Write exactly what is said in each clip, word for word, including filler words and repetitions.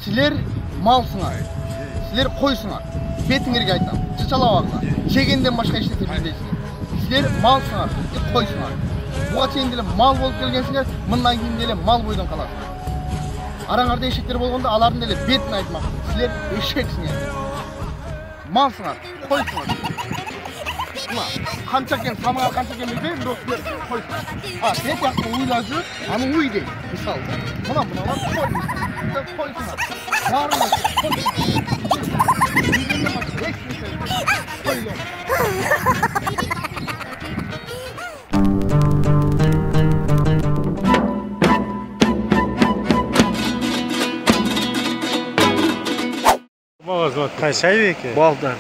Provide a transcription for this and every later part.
Силер малсыңар. Силер койсуңар. Бетиңерге айтам. Чычалабаңдар. Жегенден башка эч нерсе билбейсиңер. Силер малсыңар, койсуңар. Буга чейин деле мал болуп келгенсиңер, мындан кийин деле мал бойдон каласыңар. Араңарда эшектер болгондо алардын деле бетин айтмак. Силер эшексиңер. Малсыңар, койсуңар. Мына канча экен, самыңар канча экен билбейм, бирок силер койсуңар. А, сен жакты уйлажы, аны уй дейт. Мисалы, мына мыналар койсуңар. Силер койсуңар. Баарыңыз койсуңар. Кай Шайбек? Балдан.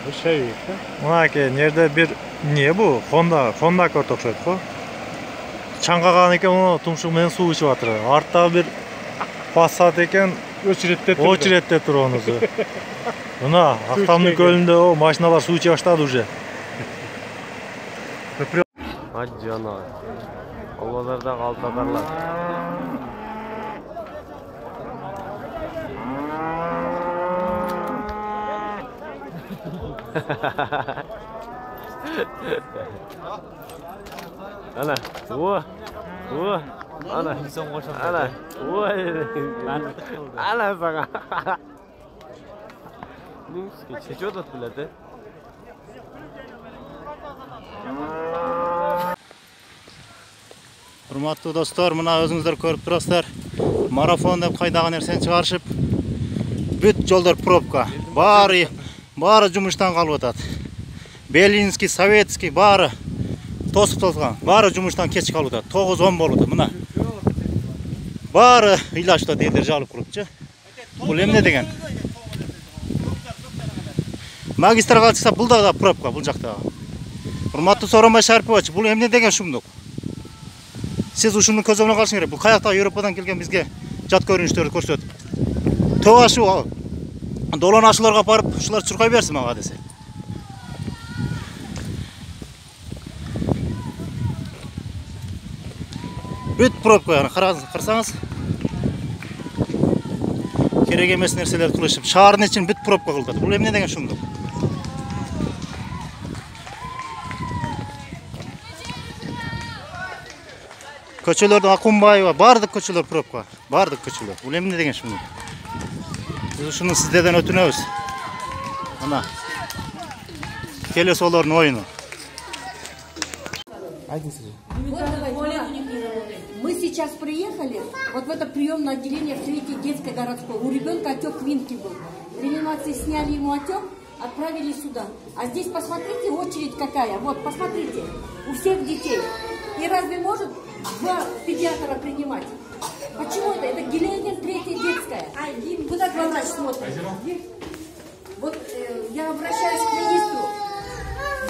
Bu Шайбек, да? Мына ке, жерде бир не бу? Honda, Honda Accord окшойт го. Чаңгаган экен, мына тумшук менен суу ичип атыр. Артта бир Passat экен, Очередте тур. очередте тур онусу. Мына Актамдын көлүндө о машиналар суу иче баштады уже. Ажжана. Албазарда калтатарлар. Ana, o, o, ana, ana, oi, ana sana. Neyse, çeşit odat bilete. Урматтуу достор, мына өзүңүздөр көрүп турасыздар. Марафон деп кайдаган нерсени чыгарышып, бүт жолдор пробка. Баары баары жумуштан калып атат. Белинский, Советский баары тосуп тосулган. Баары жумуштан кеч калып атат. тогуз он болуп атат мына. Баары ыйлашта дедер жалып курупчу. Бул эмне деген? Магистралга чыкса бул да пробка бул жакта. Урматтуу Сооронбай Шарипович, бул эмне деген шумдук? Сиз ушуну көзөмөлгө алышыңыз керек. Бул каяктагы Европадан келген бизге жат көрүнүштөрдү көрсөтүп. Тоо ашу долон ашууларга барып, ушулар чуркай берсин мага десе. Бүт пробка, караңыз, карасаңыз. Керек эмес нерселерди кылышып, шаардын ичин бүт пробка кылдырды. Бул эмне деген шумдук? Көчөлөрдө Акунбаева, бардык көчөлөр пробка, бардык көчөлөр. Бул эмне деген шумдук? Биз ушуну сиздерден өтүнөбүз. Мына. Келесі олордун оюну. Мы сейчас приехали вот в это приемное отделение в Третьей детской городской. У ребенка отек квинки был. В реанимации сняли ему отек, отправили сюда. А здесь посмотрите, очередь какая. Вот, посмотрите, у всех детей. И разве может два педиатра принимать? Почему это? Это Геленин, Третья детская. Куда главврач смотрит? Вот э, я обращаюсь к министру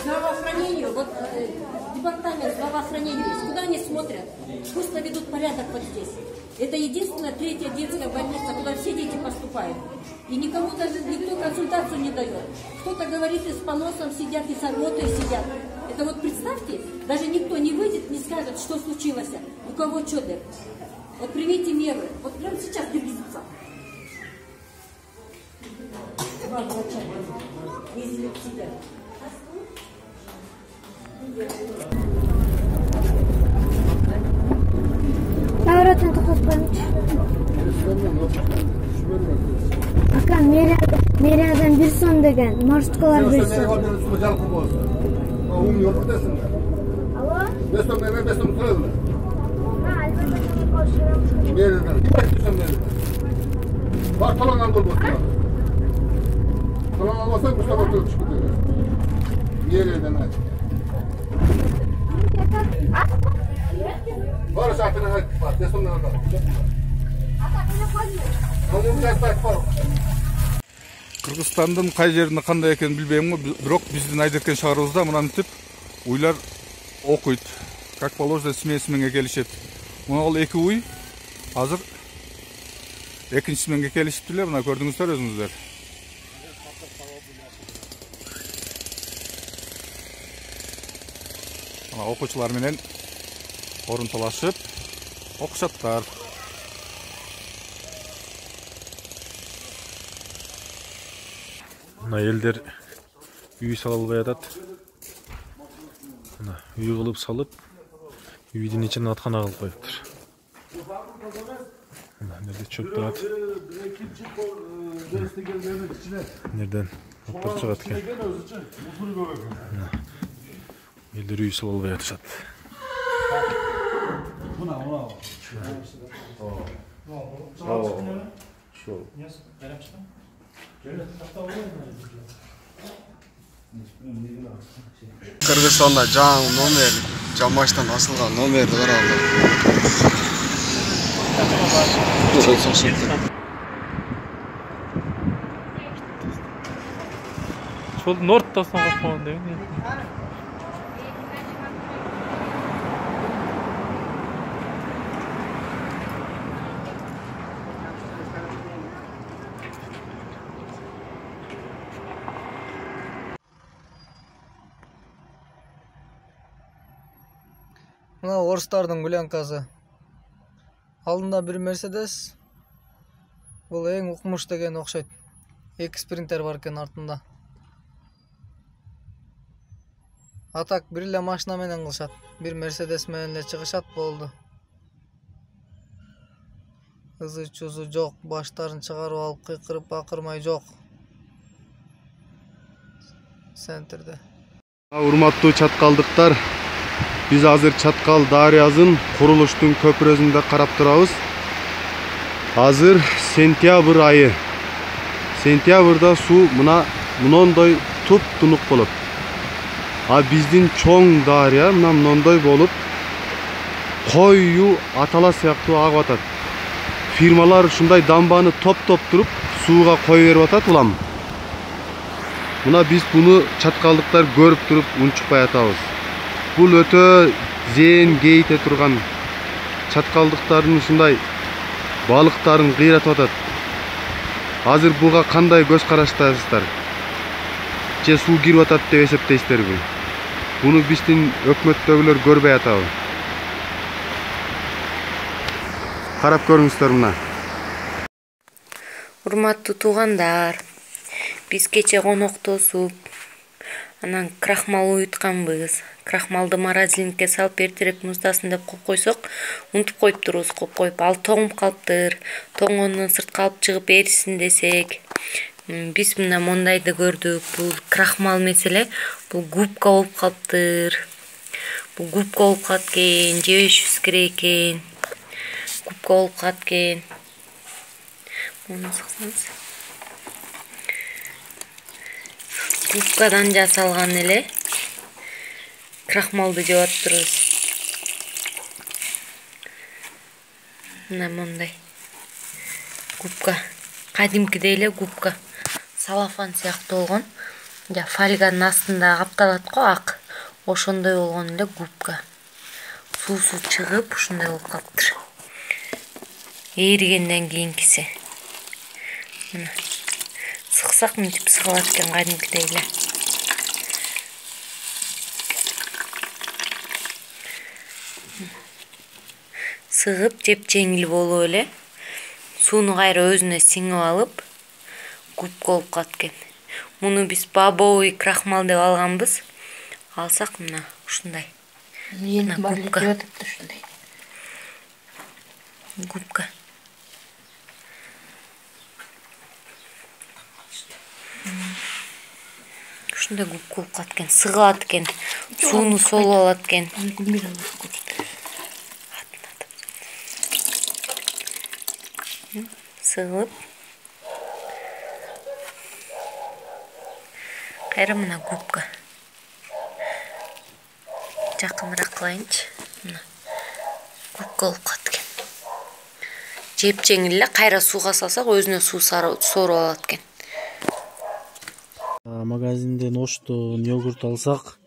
здравоохранению. Вот э, департамент здравоохранения есть. Куда они смотрят? Пусть наведут порядок вот здесь. Это единственная Третья детская больница, куда все дети поступают. И никому даже никто консультацию не дает. Кто-то говорит, и с поносом сидят, и с рвотой сидят. Это вот представьте, даже никто не выйдет, не скажет, что случилось, у кого что. Вот примите меры. Вот прямо сейчас берегитесь. Два врача ездили к себе. Навратын токоспоймчу. Ака, мэриядан бир сом деген маршруткалар берсе. Ум yok buradasın. Alo? beş ton ver, beş ton koyalım. Ha, elbette koşuyorum. Nereden? Kim nereden? Bak falan aldır bu. Falan almasan bu sabah çok çıkıyor. Nereden aç? Var saatine aç. Bak, beş ton nereden? Onun biraz daha var. Кыргызстандын кай жеринде кандай экенин билбейм го, бирок биздин Айдеркен шаарыбызда мынантип уйлар окуйт. Как положено смен сменге келишет. Мына ал эки уй азыр экинчи сменге келишиптилер, мына көрдүңүздөр өзүңүздөр. Мына окуучулар менен орун талашып окушаттар. Мына элдер үй сала албай атат. Мына үй кылып салып, үйдүн ичин аткана кылып коюптур. Мына жерде чөп турат. Нерден оптор чыгат экен. Элдер үй сала албай атышат. Кыргызстанда жаңы номер, жамаштан асылган номерди караганда. Сол Норттасын кашпаган деген. Мына орустардын гулянкасы. Алдында бир Мерседес. Бул эң укмуш деген окшойт. Эки спринтер бар экен артында. Атак бир эле машина менен кылышат. Бир Мерседес менен эле чыгышат болду. Ызы чузу жок, баштарын чыгарып алып кыйкырып бакырмай жок. Центрде. Урматтуу чаткалдыктар, биз азыр Чаткал дарыясын курулуштун көпүрөсүндө карап турабыз. Азыр сентябрь айы. Сентябрда суу мына мындай туп-тунук болот. А биздин чоң дарыя мына мындай болуп коюу атала сыяктуу агып атат. Фирмалар ушундай дамбаны топ-топ туруп сууга кое берип атат улам. Мына биз буну чаткалдыктар көрүп туруп унчукпай атабыз. Бул өтө зээн кейте турган чаткалдыктардын ушундай балыктарын кыйратып атат. Азыр буга кандай көз караштасыздар? Же суу кирип атат деп эсептейсиздерби? Буну биздин өкмөттөгүлөр көрбөй атабы? Карап көрүңүздөр мына. Урматтуу туугандар, биз кече коноктосуп, анан крахмал уютканбыз. Крахмалды морозилникке салып эртерээк муздасын деп коюп койсок, унутуп коюптурбуз коюп коюп. Ал тоңуп калыптыр. Тоңгондон сыртка алып чыгып эрисин десек, биз мына мондайды көрдүк. Бул крахмал меселе, бул губка болуп калыптыр. Бул губка болуп калат экен, жебешибиз керек экен. Губка болуп калат экен. Муну сыксаңыз. Губкадан жасалган эле крахмалды жеп атыптырбыз. Мына мондай губка, кадимкидей эле губка. Салафан сыяктуу болгон. Жа фольганын астында капталат го ак. Ошондой болгон эле губка. Суусу чыгып ушундай болуп калыптыр. Эригенден кийинкиси. Мына сыксак мынтип сыгылат экен кадимкидей эле. Сыгып жеп жеңил болуп эле сууну кайра өзүнө сиңип алып губка болуп калат экен. Муну биз бобовый крахмал деп алганбыз. Алсак мына ушундай. Мына губка. Губка. Ушундай губка болуп калат экен, сыгылат экен, сууну солуп алат экен. Сыгылып кайра мына губка. Жакыныраак кылайынчы. Мына губка болуп калат экен. Жеп жеңил эле, кайра сууга салсак өзүнө суу соруп алат экен. Магазинден оштон йогурт алсак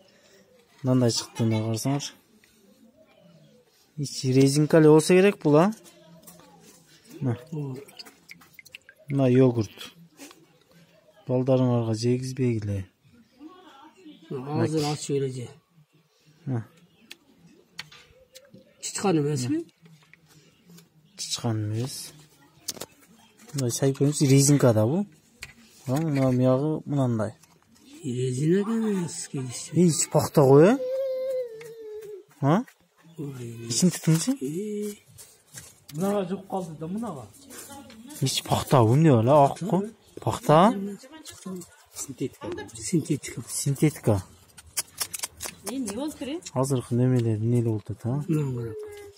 мындай чыкты, мына карасаңар. Ичи резинка эле болсо керек бул, а? Мына йогурт. Балдарыңарга жегизбегиле. Азыр ачып эле же. Чычкан эмеспи? Чычкан эмес. Мындай сайып көрүңүз, резинка да бул. Мына мыягы мынандай. Резина эмес келишти. Ич пахта го, э? А? Ичин тутунчу? Мынага жук калды да мынага. Ич пахта эмне бала ак го? Пахта? Синтетика. Синтетика. Синтетика. Эмне болуп тур? Азыркы немелер эмне болуп атат, а?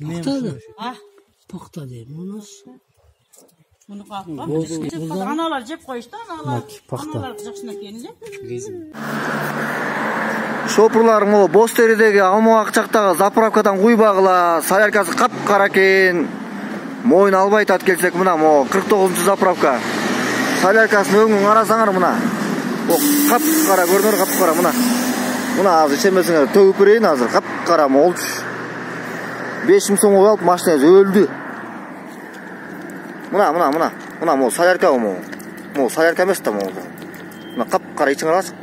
Пахта да. А? Пахта дейм, мунус. Муну капка. Аналар жеп коюшту, аналар. Аналар жакшына келинде. Шопурлар могу боз теридеги алмак акчактагы заправкадан куйбагыла, соляркасы капкара экен. Моюн албай тат келсек мына могу кырк тогузунчу заправка. Соляркасын өңүн карасаңар мына. О, капкара көрүнөр, капкара мына. Мына азыр ичемесиңер төгүп берейин азыр. Капкара молчу. беш миң сомго алып машинасы өлдү. Мына, мына, мына. Мына могу солярка могу. Могу солярка эмес да могу. Мына капкара ичиңе карасың.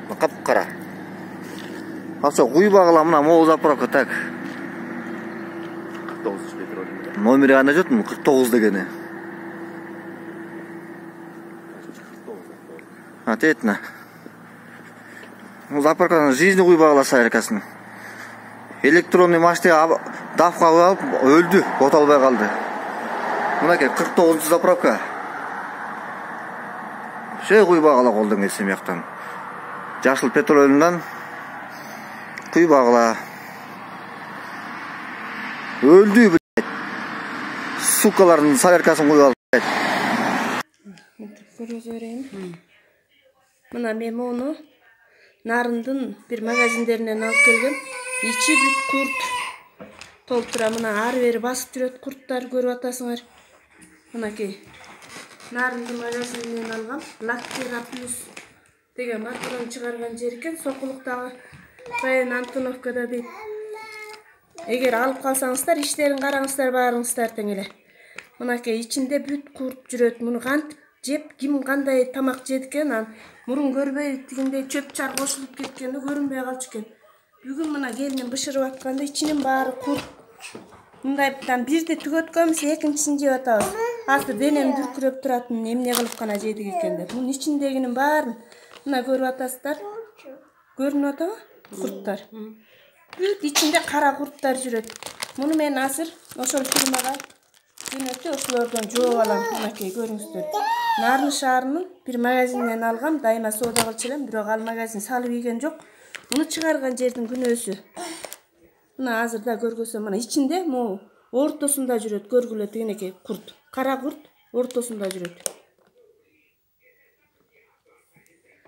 Мына капкара. Аса куйбагыла мына могу заправка так. кырк тогуз метр. Номери кандай жот? кырк тогуз дегени. А тетна. Ну заправканын жизни куйбагыла соляркасын. Электронный машина давка алып өлдү, ота албай калды. Мынакей кырк тогузунчу заправка. Şey куйбагыла колдон келсе мыяктан. Жашыл петролунан куйбагыла. Өлдү, блядь. Сукалардын соляркасын куйып алып. Көрөзө берейин. Мына мен муну Нарындын бир магазиндеринен алып келгем. Ичи бүт курт. Толтура мына ары бери басып жүрөт курттар, көрүп атасыңар. Мынакей. Нарындын магазининен алгам. Лактера плюс деген маркадан чыгарган жер экен. Сокулуктагы район Антоновкада дейт. Эгер алып калсаңыздар, иштерин караңыздар, баарыңыздар тең эле. Мынакей ичинде бүт курт жүрөт. Муну кантип жеп, ким кандай тамак жеди экен, мурун көрбөй тигиндей чөп чар кошулуп кеткенди көрүнбөй калчу экен. Бүгүн мына келиним бышырып атканда ичинин баары курт. Мындайдан бирди түгөткөнбүз, экинчисин жеп атабыз. Азыр денем дүркүрөп туратын эмне кылып гана жедик экен деп. Мунун ичиндегинин баарын мына көрүп атасыздар. Көрүнүп атабы? Курттар. Бүт ичинде кара курттар жүрөт. Муну мен азыр ошол фирмага жөнөтүп ошолордон жооп алам. Мынакей көрүңүздөр. Нарын шаарынын бир магазининен алгам, дайыма соода кылчу элем, бирок ал магазин салып ийген жок. Муну чыгарган жердин күнөөсү. Мына азыр да көргөсөм, мына ичинде могу ортосунда жүрөт, көргүлө тигинекей курт. Кара курт ортосунда жүрөт.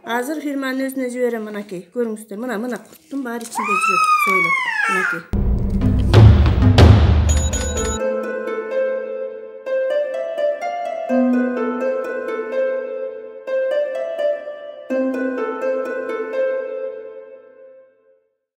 Азыр фирманын өзүнө жиберем, мынакей көрүңүздөр. Мына мына курттун баары ичинде жүрөт, сойлоп. Мынакей.